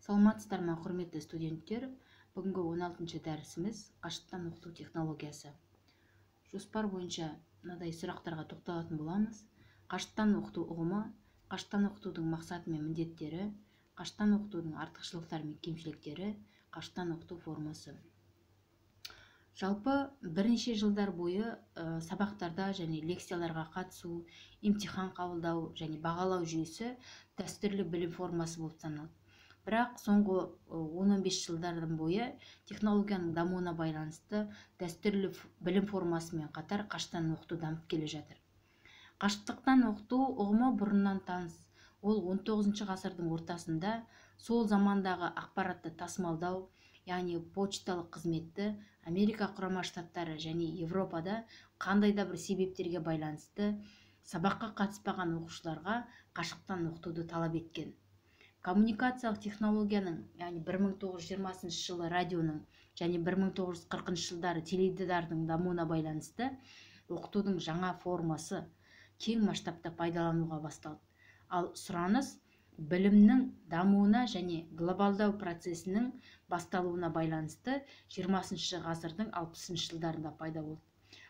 Саламатсыздар ма, құрметті студенттер? Бүгінгі 16-шы дәрісіміз қашықтан оқыту технологиясы. Жоспар бойынша мынадай сұрақтарға тоқталатын боламыз. Қашықтан оқыту ұғымы, қашықтан оқытудың мақсаты мен міндеттері, қашықтан оқытудың артықшылықтары мен кемшіліктері, қашықтан оқыту формасы. Жалпы бірнеше жылдар бойы сабақтарда және лекцияларға қатысу, имтихан қабылдау және бағалау жүйесі дәстүрлі білім формасы болып саналады. Бірақ соңғы 10-15 жылдардан бойы технологияның дамуына байланысты дәстүрлі білім формасымен қатар қашықтан оқыту дамып келе жатыр. Қашықтықтан оқыту ұғымы бұрыннан таныс. Ол 19 ғасырдың ортасында сол замандағы ақпаратты тасымалдау, яғни почталық қызметті Америка құрама штаттары және Европада қандай да бір себептерге байланысты сабаққа қатыспаған оқушыларға қашықтан оқытуды талап еткен. Коммуникациялық технологияның, яғни 1920 жылы радионың және 1940 жылдары теледидардың дамуына байланысты оқытудың жаңа формасы кең масштабта пайдалануға басталды. Ал сұраныс білімнің дамуына және глобалдау процесінің басталуына байланысты 20 ғасырдың 60 жылдарында пайда болды.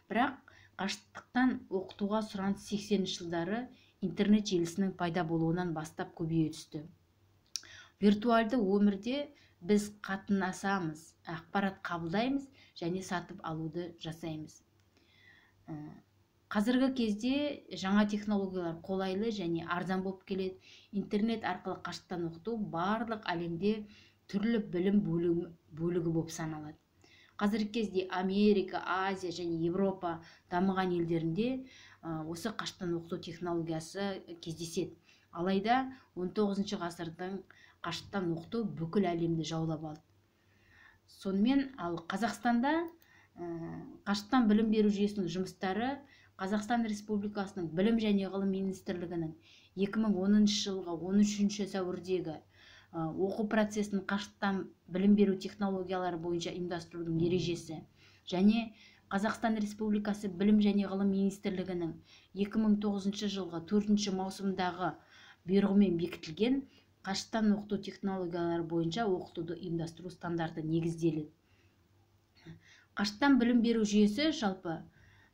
Бірақ қашықтықтан оқытуға сұраныс 80 жылдары интернет желісінің пайда болуынан бастап көбейе түсті. Виртуалды өмірде біз қатынасамыз, ақпарат қабылдаймыз және сатып алуды жасаймыз. Қазіргі кезде жаңа технологиялар қолайлы және арзан болып келеді. Интернет арқылы қашықтан оқыту барлық әлемде түрлі білім бөлігі болып саналады. Қазіргі кезде Америка, Азия және Европа дамыған елдерінде осы қашықтан оқыту технологиясы кездеседі. Алайда 19 ғасырдың қашықтан оқыту бүкіл әлемді жаулап алды. Сонымен ал Қазақстанда қашықтан білім беру жүйесінің жұмыстары Қазақстан Республикасының Білім және ғылым министрлігінің 2010 жылғы 13 сәуірдегі оқу процесінің қашықтан білім беру технологиялары бойынша ұйымдастырудың ережесі және Қазақстан Республикасы Білім және ғылым министрлігінің 2009 жылғы 4 маусымдағы бұйрығымен бекітілген қашықтан оқыту технологиялары бойынша оқытуды ұйымдастыру стандарты негізделеді. Қашықтан білім беру жүйесі жалпы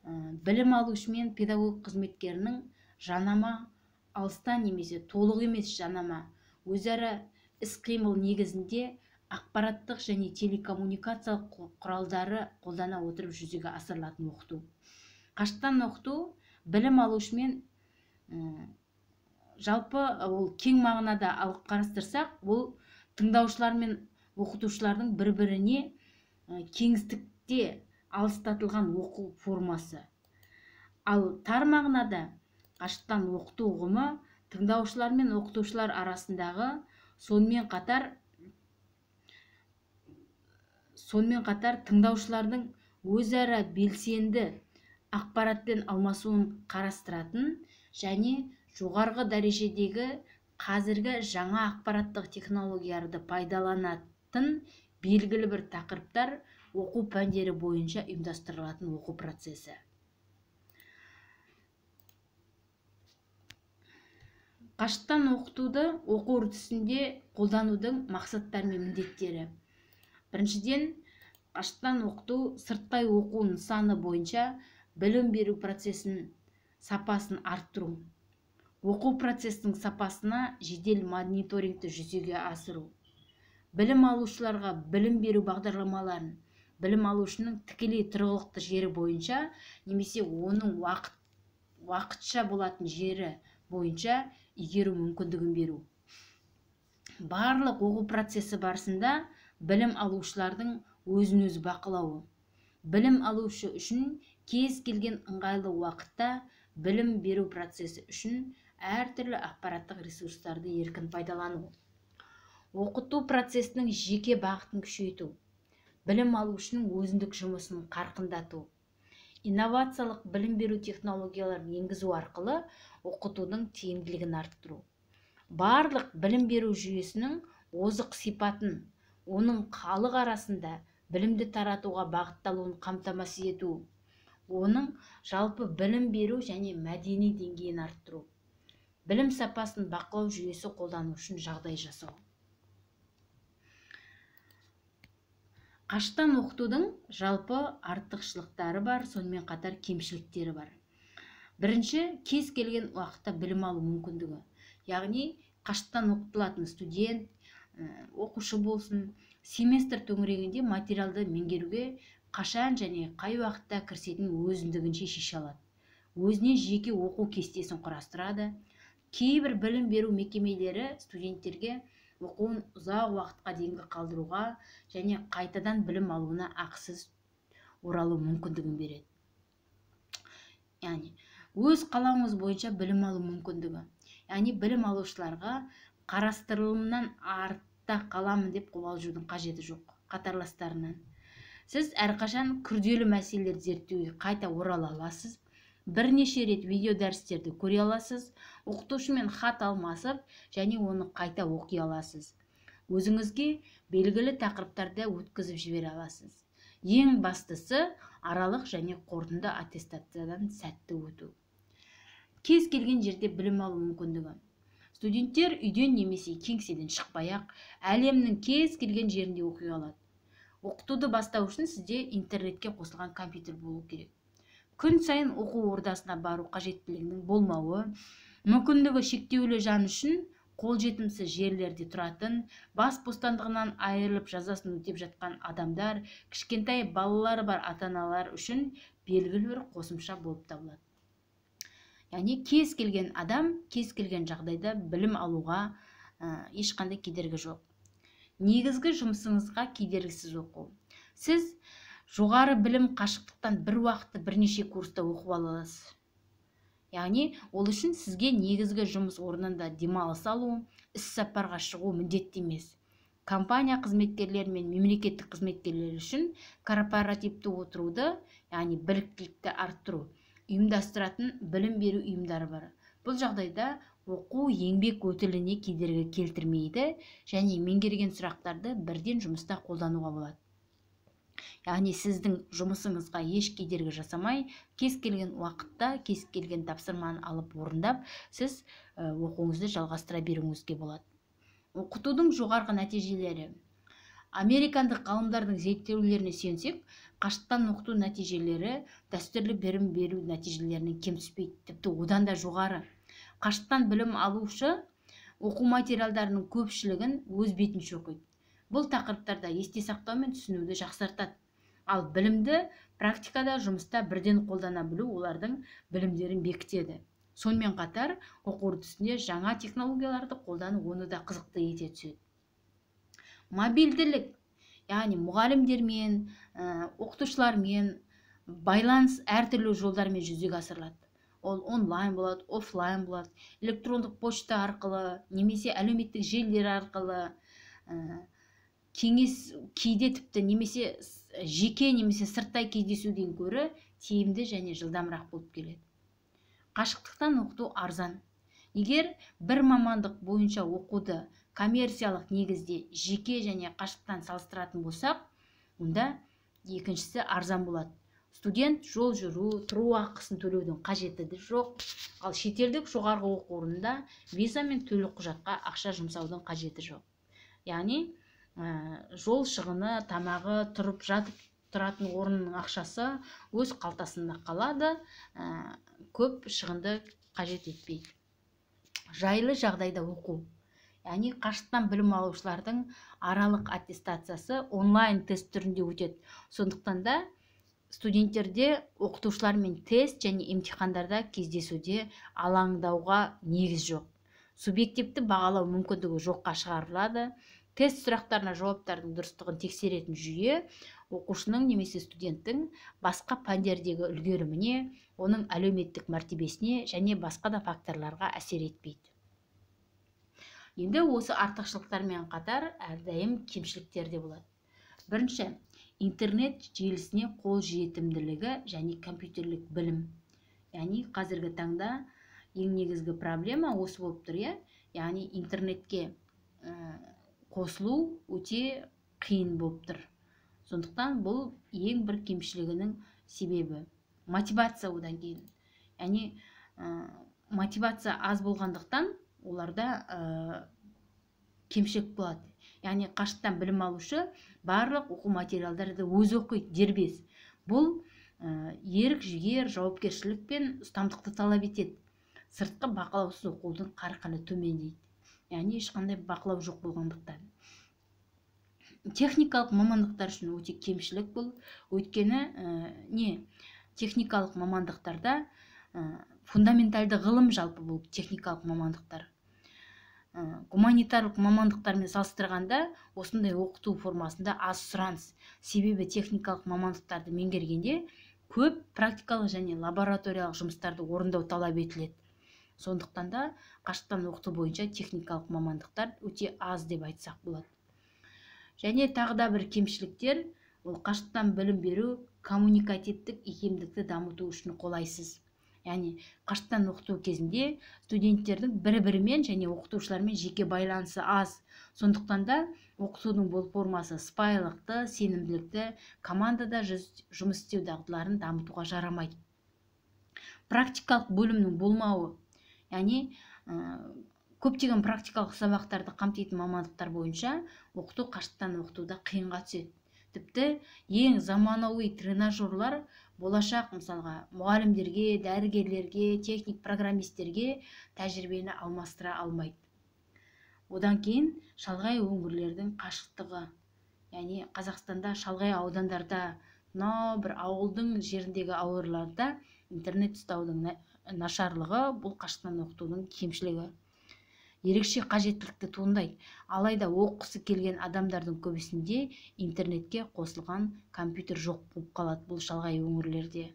білім алушы мен педагог қызметкерінің жанама, алыстан немесе толық емес жанама, өзара іс-қимыл негізінде ақпараттық және телекоммуникациялық құралдары қолдана отырып жүзеге асырылатын оқыту. Қашықтан оқыту білім алушы мен жалпы ол кең мағынада алып қарастырсақ, ол тыңдаушылар мен оқытушылардың бір-біріне кеңістікте алыстатылған оқу формасы. Ал тар мағынада қашықтан оқыту ұғымы тыңдаушылар мен оқытушылар арасындағы сонымен қатар тыңдаушылардың өзара белсенді ақпаратпен алмасуын қарастыратын және жоғарғы дәрежедегі қазіргі жаңа ақпараттық технологияларды пайдаланатын белгілі бір тақырыптар оқу пәндері бойынша ұйымдастырылатын оқу процесі. Қашықтан оқытуды оқу үрдісінде қолданудың мақсаттары мен міндеттері. Біріншіден, қашықтан оқыту сырттай оқу нысаны бойынша білім беру процесінің сапасын арттыру. Оқу процесінің сапасына жедел мониторингті жүзеге асыру. Білім алушыларға білім беру бағдарламаларын білім алушының тікелей тұрғылықты жері бойынша немесе оның уақытша болатын жері бойынша игеру мүмкіндігін беру. Барлық оқу процесі барысында білім алушылардың өзін-өзі бақылауы. Білім алушы үшін кез келген ыңғайлы уақытта білім беру процесі үшін әртүрлі ақпараттық ресурстарды еркін пайдалану. Оқыту процесінің жеке бағытын күшейту. Білім алушының өзіндік жұмысын қарқындату. Инновациялық білім беру технологияларын енгізу арқылы оқытудың тиімділігін арттыру. Барлық білім беру жүйесінің озық сипатын, оның халық арасында білімді таратуға бағытталуын қамтамасыз ету. Оның жалпы білім беру және мәдени деңгейін арттыру. Білім сапасын бақылау жүйесі қолдану үшін жағдай жасау. Қашықтан оқытудың жалпы артықшылықтары бар, сонымен қатар кемшіліктері бар. Бірінші, кез келген уақытта білім алу мүмкіндігі. Яғни қашықтан оқытылатын студент, оқушы болсын, семестр төңірегінде материалды меңгеруге қашан және қай уақытта кірісетінін өзіндігінше шеше алады. Өзіне жеке оқу кестесін құрастырады. Кейбір білім беру мекемелері студенттерге оқуын ұзақ уақытқа дейінгі қалдыруға және қайтадан білім алуына ақысыз оралу мүмкіндігін береді. Яғни өз қалауыңыз бойынша білім алу мүмкіндігі. Яғни білім алушыларға қарастырылымнан артта қаламын деп қобалжудың қажеті жоқ қатарластарынан. Сіз әрқашан күрделі мәселелерді зерттеуге қайта орала аласыз. Бірнеше рет видео дәрістерді көре аласыз, оқытушымен хат алмасып және оны қайта оқи аласыз. Өзіңізге белгілі тақырыптарда өткізіп жібере аласыз. Ең бастысы аралық және қорытынды аттестациядан сәтті өту. Кез келген жерде білім алу мүмкіндігі. Студенттер үйден немесе кеңседен шықпай-ақ әлемнің кез келген жерінде оқи алады. Оқытуды бастау үшін сізде интернетке қосылған компьютер болу керек. Күн сайын оқу ордасына бару қажеттілігінің болмауы, мүмкіндігі шектеулі жан үшін қолжетімсіз жерлерде тұратын, бас бостандығынан айырылып жазасын өтеп жатқан адамдар, кішкентай балалары бар ата-аналар үшін белгілі бір қосымша болып табылады. Яғни кез келген адам, кез келген жағдайда білім алуға ешқандай кедергі жоқ. Негізгі жұмысыңызға кедергісіз оқу. Сіз жоғары білім қашықтықтан бір уақытта бірнеше курста оқып аласыз. Яғни ол үшін сізге негізгі жұмыс орнында демалыс алу, іс-сапарға шығу міндетті емес. Компания қызметкерлері мен мемлекеттік қызметкерлер үшін корпоративті отыруды, яғни біліктілікті арттыру, ұйымдастыратын білім беру ұйымдары бар. Бұл жағдайда оқу еңбек өтіліне кедергі келтірмейді және меңгерген сұрақтарды бірден жұмыста қолдануға болады. Яғни сіздің жұмысыңызға еш кедергі жасамай, кез келген уақытта, кез келген тапсырманы алып орындап, сіз оқуыңызды жалғастыра беруіңізге болады. Оқытудың жоғарғы нәтижелері. Американдық ғалымдардың зерттеулеріне сүйенсек, қашықтан оқыту нәтижелері дәстүрлі білім беру нәтижелерінен кем түспейді, тіпті одан да жоғары. Қашықтан білім алушы оқу материалдарының көпшілігін өз бетінше оқиды. Бұл тақырыптарда есте сақтау мен түсінуді жақсартады. Ал білімді практикада, жұмыста бірден қолдана білу олардың білімдерін бекітеді. Сонымен қатар, оқу үрдісінде жаңа технологияларды қолдану оны да қызықты ете түседі. Мобильділік, яғни мұғалімдермен, оқытушылармен байланыс әртүрлі жолдармен жүзеге асырылады. Ол онлайн болады, офлайн болады, электрондық почта арқылы, немесе әлеуметтік желілер арқылы, кеңес кейде тіпті немесе жеке немесе сырттай кездесуден көрі тиімді және жылдамырақ болып келеді. Қашықтықтан оқыту арзан. Егер бір мамандық бойынша оқуды коммерциялық негізде жеке және қашықтан салыстыратын болсақ, онда екіншісі арзан болады. Студент жол жүру, тұру ақысын төлеудің қажеті жоқ, ал шетелдік жоғарғы оқу орнында виза мен төлем құжатқа ақша жұмсаудың қажеті жоқ. Яғни жол шығыны, тамағы, тұрып жатып тұратын орынның ақшасы өз қалтасында қалады, көп шығынды қажет етпейді. Жайлы жағдайда оқу. Яғни қашықтан білім алушылардың аралық аттестациясы онлайн тест түрінде өтеді. Сондықтан да студенттерде оқытушылармен тест және емтихандарда кездесуде алаңдауға негіз жоқ. Субъективті бағалау мүмкіндігі жоққа шығарылады. Тест сұрақтарына жауаптардың дұрыстығын тексеретін жүйе оқушының немесе студенттің басқа пәндердегі үлгеріміне, оның әлеуметтік мәртебесіне және басқа да факторларға әсер етпейді. Енді осы артықшылықтармен қатар әрдайым кемшіліктер де болады. Бірінші, интернет желісіне қол жетімділігі және компьютерлік білім. Яғни қазіргі таңда ең негізгі проблема осы болып тұр, яғни интернетке қосылу өте қиын болып тұр. Сондықтан бұл ең бір кемшілігінің себебі. Мотивация одан кейін. Яғни мотивация аз болғандықтан оларда кемшілік болады. яғни қашықтан білім алушы барлық оқу материалдарды өзі оқиды дербес. Бұл ерік жігер, жауапкершілік пен ұстамдықты талап етеді. Сыртқы бақылаусыз оқудың қарқыны төмендейді, яғни ешқандай бақылау жоқ болғандықтан. Техникалық мамандықтар үшін өте кемшілік бұл. Өйткені техникалық мамандықтарда фундаменталды ғылым жалпы бұл техникалық мамандықтар. Гуманитарлық мамандықтармен салыстырғанда осындай оқыту формасында аз сұраныс. Себебі техникалық мамандықтарды меңгергенде көп практикалық және лабораториялық жұмыстарды орындау талап етіледі. Сондықтан да қашықтан оқыту бойынша техникалық мамандықтар өте аз деп айтсақ болады. Және тағы да бір кемшіліктер, ол қашықтан білім беру коммуникативтік икемдікті дамыту үшін қолайсыз. Яғни қашықтан оқыту кезінде студенттердің бір-бірімен және оқытушылармен жеке байланысы аз. Сондықтан да оқытудың бұл формасы сыпайылықты, сенімділікті, командада жұмыс істеу дағдыларын дамытуға жарамайды. Практикалық бөлімнің болмауы, яғни көптеген практикалық сабақтарды қамтитын мамандықтар бойынша оқыту қашықтан оқытуда қиынға түседі. Тіпті ең заманауи тренажерлар болашақ мысалға мұғалімдерге, дәрігерлерге, техник программистерге тәжірибені алмастыра алмайды. Одан кейін шалғай өңірлердің қашықтығы, яғни Қазақстанда шалғай аудандарда, бір ауылдың жеріндегі ауылдарда интернет ұстаудың нашарлығы бұл қашықтан оқытудың кемшілігі. Ерекше қажеттілікті туындайды. Алайда оқысы келген адамдардың көбісінде интернетке қосылған компьютер жоқ болып қалады бұл шалғай өңірлерде.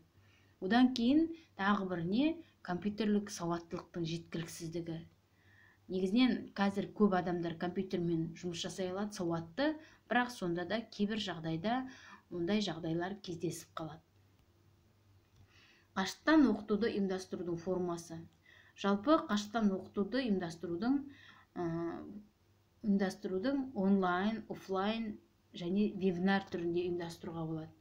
Одан кейін тағы біріне компьютерлік сауаттылықтың жеткіліксіздігі. Негізінен қазір көп адамдар компьютермен жұмыс жасай алады, сауатты, бірақ сонда да кейбір жағдайда ондай жағдайлар кездесіп қалады. Қашықтан оқытуды ұйымдастырудың формасы. Жалпы қашықтан оқытуды ұйымдастырудың онлайн, офлайн және вебинар түрінде ұйымдастыруға болады.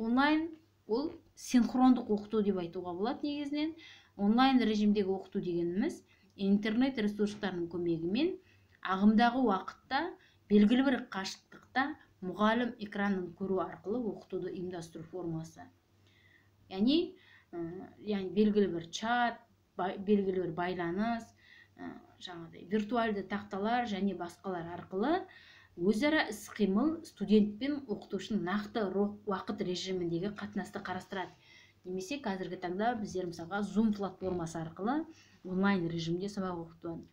Онлайн ол синхрондық оқыту деп айтуға болады негізінен. Онлайн режимдегі оқыту дегеніміз интернет ресурстарының көмегімен ағымдағы уақытта белгілі бір қашықтықта мұғалім экранын көру арқылы оқытуды ұйымдастыру формасы. Яғни белгілі бір чат, белгілі бір байланыс, виртуалды тақталар және басқалар арқылы өзара іс-қимыл студент пен оқытушының нақты уақыт режиміндегі қатынасты қарастырады. Немесе қазіргі таңда біздер мысалға Zoom платформасы арқылы онлайн режимде сабақ оқытамыз.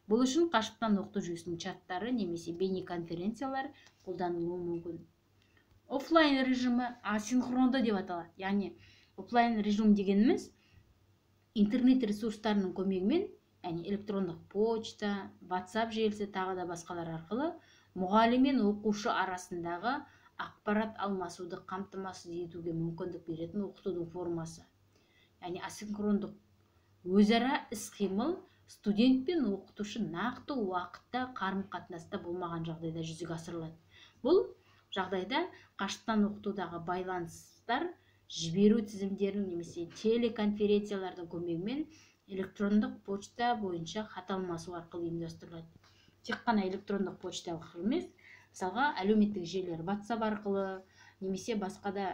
Бұл үшін қашықтан оқыту жүйесінің чаттары немесе бейнеконференциялар қолданылуы мүмкін. Офлайн режимі асинхронды деп аталады. Яғни офлайн режим дегеніміз интернет ресурстарының көмегімен, яғни электрондық почта, WhatsApp желісі тағы да басқалар арқылы мұғалім мен оқушы арасындағы ақпарат алмасуды қамтамасыз етуге мүмкіндік беретін оқытудың формасы. Яғни асинхрондық өзара іс-қимыл студент пен оқытушы нақты уақытта қарым-қатынаста болмаған жағдайда жүзеге асырылады. Бұл жағдайда қашықтан оқытудағы байланыстар жіберу тізімдерінің немесе телеконференциялардың көмегімен электрондық почта бойынша хат алмасу арқылы ұйымдастырылады. Тек қана электрондық почта арқылы емес, мысалға әлеуметтік желілер WhatsApp арқылы немесе басқа да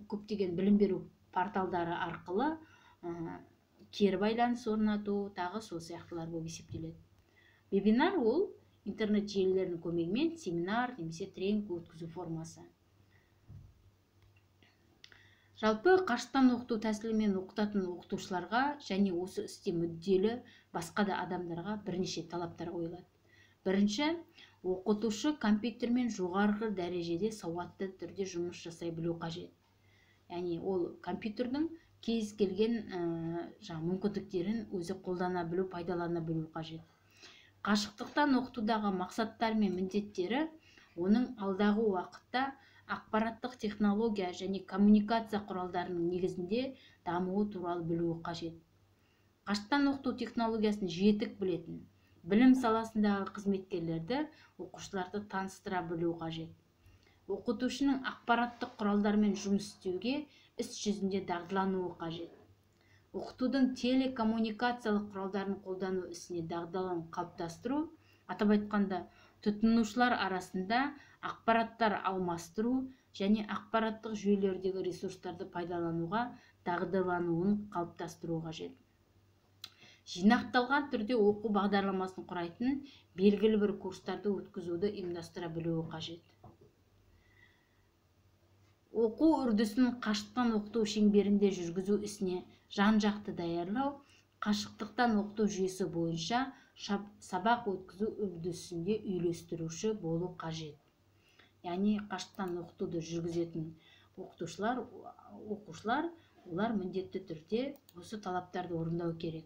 көптеген білім беру порталдары арқылы кері байланыс орнату, тағы сол сияқтылар болып есептеледі. Вебинар ол интернет желілерінің көмегімен семинар немесе тренинг өткізу формасы. Жалпы қашықтан оқыту тәсілімен оқытатын оқытушыларға және осы істе мүдделі басқа да адамдарға бірнеше талаптар қойылады. Бірінші, оқытушы компьютермен жоғарғы дәрежеде сауатты түрде жұмыс жасай білу қажет. Яғни ол компьютердің кез келген мүмкіндіктерін өзі қолдана білу, пайдалана білу қажет. Қашықтықтан оқытудағы мақсаттар мен міндеттері оның алдағы уақытта ақпараттық технология және коммуникация құралдарының негізінде дамуы туралы білуі қажет. Қашықтан оқыту технологиясын жетік білетін, білім саласындағы қызметкерлерді оқушыларды таныстыра білу қажет. Оқытушының ақпараттық құралдармен жұмыс істеуге іс жүзінде дағдылануы қажет. Оқытудың телекоммуникациялық құралдарын қолдану ісіне дағдылығын қалыптастыру, атап айтқанда, тұтынушылар арасында ақпараттар алмастыру және ақпараттық жүйелердегі ресурстарды пайдалануға дағдылануын қалыптастыру қажет. Жинақталған түрде оқу бағдарламасын құрайтын белгілі бір курстарды өткізуді ұйымдастыра білуі қажет. Оқу үрдісін қашықтан оқыту шеңберінде жүргізу ісіне жан-жақты даярлау, қашықтықтан оқыту жүйесі бойынша сабақ өткізу үрдісінде үйлестіруші болу қажет. Яғни қашықтан оқытуды жүргізетін оқушылар, олар міндетті түрде осы талаптарды орындау керек.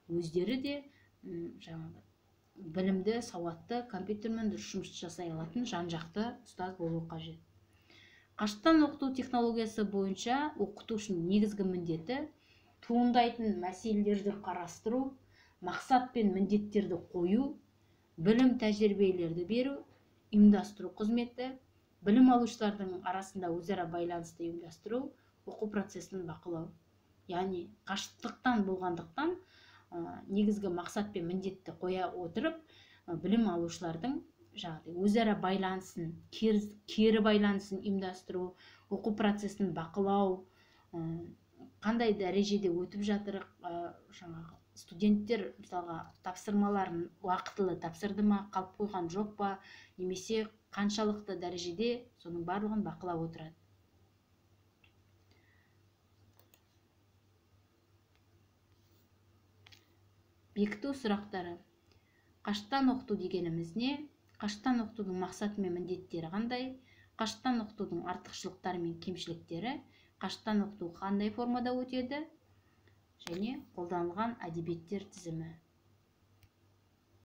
Өздері де білімді, сауатты, компьютермен дұрыс жұмыс жасай алатын жан-жақты ұстаз болу қажет. Қашықтан оқыту технологиясы бойынша оқытушының негізгі міндеті туындайтын мәселелерді қарастыру, мақсат пен міндеттерді қою, білім тәжірибелерді беру, ұйымдастыру қызметі, білім алушылардың арасында өзара байланысты ұйымдастыру, оқу процесін бақылау. Яғни қашықтықтан болғандықтан негізгі мақсат пен міндетті қоя отырып, білім алушылардың өзара байланысын, кері байланысын ұйымдастыру, оқу процесін бақылау, қандай дәрежеде өтіп жатыр, студенттер мысалға тапсырмаларын уақытылы тапсырды ма, қалып қойған жоқ па, немесе қаншалықты дәрежеде, соның барлығын бақылап отырады. Бекіту сұрақтары. Қашықтан оқыту дегеніміз не? Қашықтан оқытудың мақсаты мен міндеттері қандай? Қашықтан оқытудың артықшылықтары мен кемшіліктері? Қашықтан оқыту қандай формада өтеді? Және қолданылған әдебиеттер тізімі.